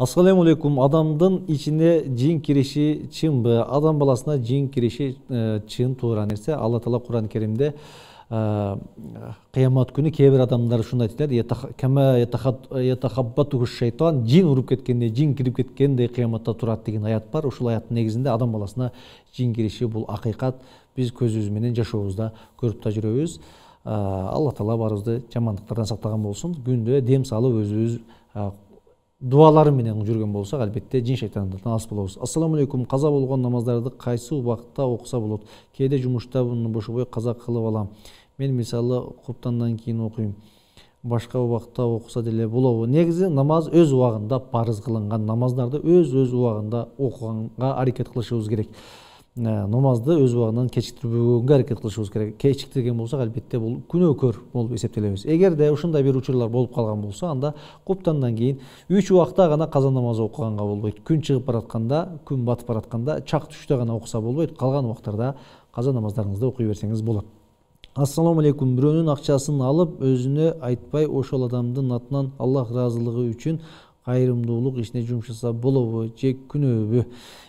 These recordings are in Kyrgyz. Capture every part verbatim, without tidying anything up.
Ассаламу алейкум. Адамдын ичине жин кириши чынбы? Адам баласына жин кириши чын туура нерсе. Алла Таала Кур'ан Керимде кыямат күнү кээ бир адамдар ушундай айтат: "Кама ятахаббату шайтан", жин уруп кеткенде, жин кирип кеткенде кыяматта турат деген аят бар. Ушул аяттын негизинде адам баласына жин кириши бул акыйкат. Биз көзүбүз менен жашообузда көрүп да жүрөбүз. Алла Таала баарыбызды жамандыктардан сактаган болсун. Күндө дем салып өзүбүз дуалары менен жүргөн болсок, албетте жин шайтандан алыс болобуз. Ассаламу алейкум. Каза болгон намаздарды кайсы убакытта окуса болот? Кээде жумушта бошобой каза кылып алам. Мен мисалы куптандан кийин окуйм. Башка убакытта окуса деле болобу? Негизи намаз өз убагында парыз кылынган. Намаздарды өз-өз убагында окуганга аракет кылышыбыз керек. Намазды өз убагынан кечиктирбөгөнгө аракет кылышыбыз керек. Кечиктирген болсок, албетте бул күнөөкөр болуп эсептелебиз. Эгерде ушундай бир учурлар болуп калган болсо, анда куптандан кийин үч убакта гана каза намазы окуганга болбойт. Күн чыгып баратканда, күн батып баратканда чак түштө гана окуса болбойт. Калган убактарда каза намаздарыңызды окуй берсеңиз болот. Ассаламу алейкум. Бирөөнүн акчасын алып, өзүнө айтпай ошол адамдын атынан Аллах ыраазылыгы үчүн кайрымдуулук ишине жумшаса болобу же күнөөбү?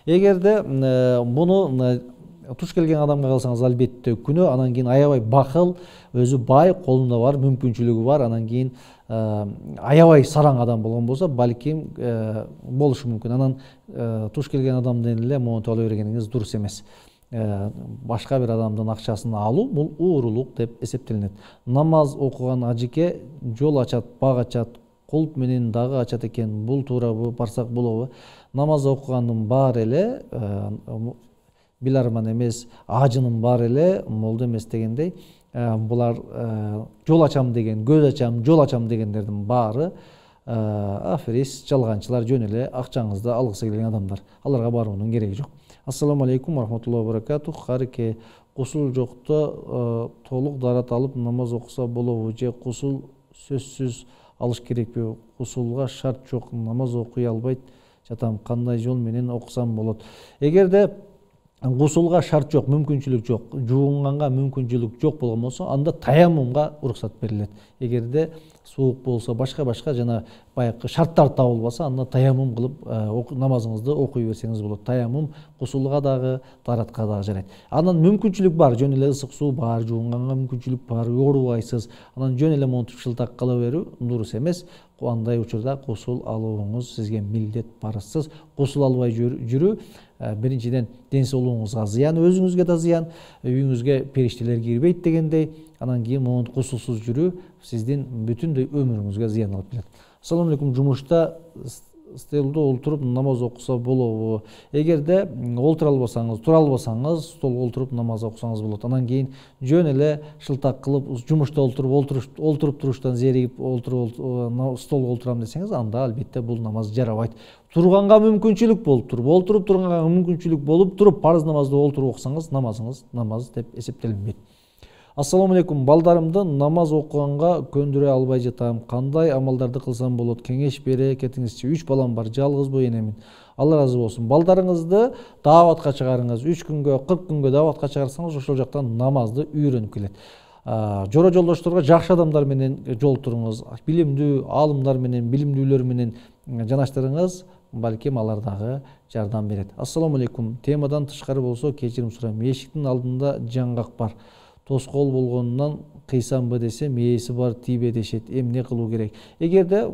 Эгерде муну туш келген адамга кылсаңыз, албетте күнөө. Анан кийин аябай бакыл, өзү бай, колунда бар, мүмкүнчүлүгү бар, анан кийин аябай сараң адам болгон болсо, балким болушу мүмкүн. Анан туш келген адамдын эле монтип ала бергениңиз дурус эмес. Башка бир адамдын акчасын алуу бул уурулук деп эсептелинет. Намаз окуган ажике жол ачат, бак ачат, кулп менен дагы ачат экен. Бул туурабы, барсак болобу? Намаз окугандын баары эле биларман эмес, ажынын баары эле молдо эмес дегендей, булар жол ачам деген, көз ачам, жол ачам дегендердин баары аферист, жалганчылар, жөн эле акчаңызды алгысы келген адамдар. Аларга баруунун кереги жок. Ассаламу алейкум рахматуллахи ва баракатух. Карке кусул жокто толук дарат алып намаз окуса болобу же кусул сөзсүз алыш керекпи? Кусулга шарт жок, намаз окуй албайт жатам. Кандай жол менен окусам болот? Эгерде кусулга шарт жок, мүмкүнчүлүк жок, жуунганга мүмкүнчүлүк жок болгон болсо, анда таяммумга уруксат берилет. Эгерде суук болсо, башка-башка жана баягы шарттар табылбаса, анда таяммум кылып намазыңызды окуй берсеңиз болот. Таяммум кусулга дагы, даратка дагы жарайт. Анан мүмкүнчүлүк бар, жөн эле ысык суу бар, жуунганга мүмкүнчүлүк бар, оорубайсыз. Анан жөн эле монтип шылтак кыла берүү дурус эмес. Андай учурда кусул алууңуз сизге милдет, парызсыз. Кусул албай жүрүү биринчиден ден соолугуңузга зыян, өзүңүзгө да зыян, үйүңүзгө периштелер кирбейт дегендей. Анан кийин монун кусулсуз жүрүү сиздин бүтүндөй өмүрүңүзгө зыян алып келет. Ассаламу алейкум. Жумушта столдо олтуруп намаз окуса болобу? Эгерде олтура албасаңыз, тура албасаңыз, столго олтуруп намаз окусаңыз болот. Анан кийин жөн эле шылтак кылып, жумушта олтуруп, олтуруп туруштан зеригип, олтуруп столго олтурам десеңиз, анда албетте бул намаз жарабайт. Турганга мүмкүнчүлүк болуп туруп, олтуруп турганга мүмкүнчүлүк болуп туруп, парыз намазды олтуруп окусаңыз, намазыңыз намаз деп эсептелинбейт. Ассаламу алейкум. Балдарымды намаз окуганга көндүрө албай жатам. Кандай амалдарды кылсам болот? Кеңеш бере кетиңизчи. үч балам бар, жалгыз бой энемин. Алла разы болсун. Балдарыңызды дааватка чыгарыңыз. үч күнгө, кырк күнгө дааватка чыгарсаңыз, ошол жактан намазды үйрөнүп келет. Жора жолдошторго жакшы адамдар менен жолтуруңуз. Билимдүү аалымдар менен, билимдүүлөр менен жанаштырыңыз. Балким алар дагы жардам берет. Ассаламу алейкум. Темадан тышкары болсо кечирим сурайм. Эшиктин алдында жаңгак бар. Тоскоол болгонунан кыйсамбы десем, ээси бар, тийбе дешет. Эмне кылуу керек? Эгерде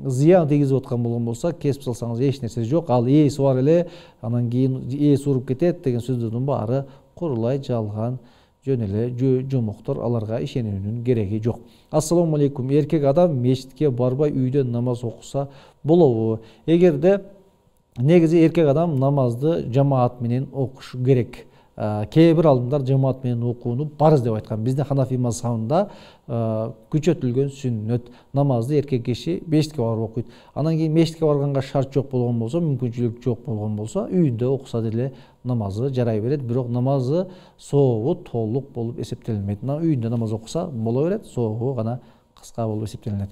зыян тийгизип аткан болгон болсо, кесип салсаңыз эч нерсе жок. Ал ээси бар эле, анан кийин ээси уруп кетет деген сөздөрдүн баары курулай жалган, жөн эле жомоктор, аларга ишенүүнүн кереги жок. Ассаламу алейкум. Эркек адам мечитке барбай үйдөн намаз окуса болобу? Эгерде негизи эркек адам намазды жамаат менен окуш керек. Кээ бир алымдар жамаат менен окууну парыз деп айткан. Бизде Ханафи мазхабында күчөтүлгөн сүннөт. Намазды эркек киши мечитке барып окуйт. Анан кийин мечитке барганга шарт жок болгон болсо, мүмкүнчүлүк жок болгон болсо, үйүндө окуса деле намазы жарай берет. Бирок намазы сообу толук болуп эсептелинбейт. Үйүндө намаз окуса боло берет, сообу гана кыска болуп эсептелинет.